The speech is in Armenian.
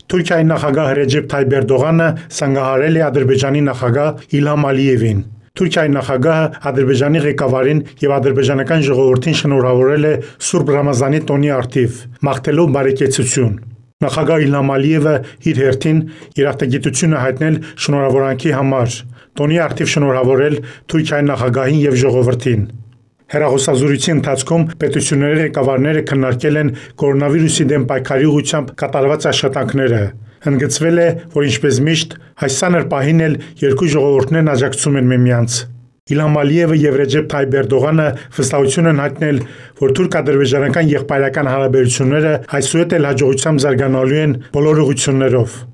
Թուրքիայի նախագահ Ռեջեփ Թայիփ Էրդողանը սանգահարել է Ադրբեջանի նախագահ Իլհամ Ալիևին։ Թուրքիայի նախագահը Ադրբեջանի ղեկավարին եւ ադրբեջանական ժողովրդին շնորհավորել է Սուրբ Ռամազանի տոնի առթիվ, մաղթելով բարեկեցություն։ Նախագահ Իլհամ Ալիևը իր հերթին երախտագիտություն է հայտնել շնորհավորանքի համար, տոնի առթիվ շնորհավորել Թուրքիայի նախագահին եւ ժողովրդին։ Հեռախոսազրույցի ընթացքում պետությունների ղեկավարները քննարկել են կորոնավիրուսի դեմ պայքարի ուղղությամբ կատարված աշխատանքները։ Ընդգծվել է, որ ինչպես միշտ, այս ցաներ պահին էլ երկու ժողովուրդներն աջակցում են միմյանց։ Իլհամ Ալիևը եւ Ռեջեփ Թայիփ Էրդողանը վստահություն են հայտնել, որ թուրք-ադրբեջանական եղբայրական հարաբերությունները այսուհետ էլ հաջողությամբ զարգանալու են բոլոր ուղղություններով։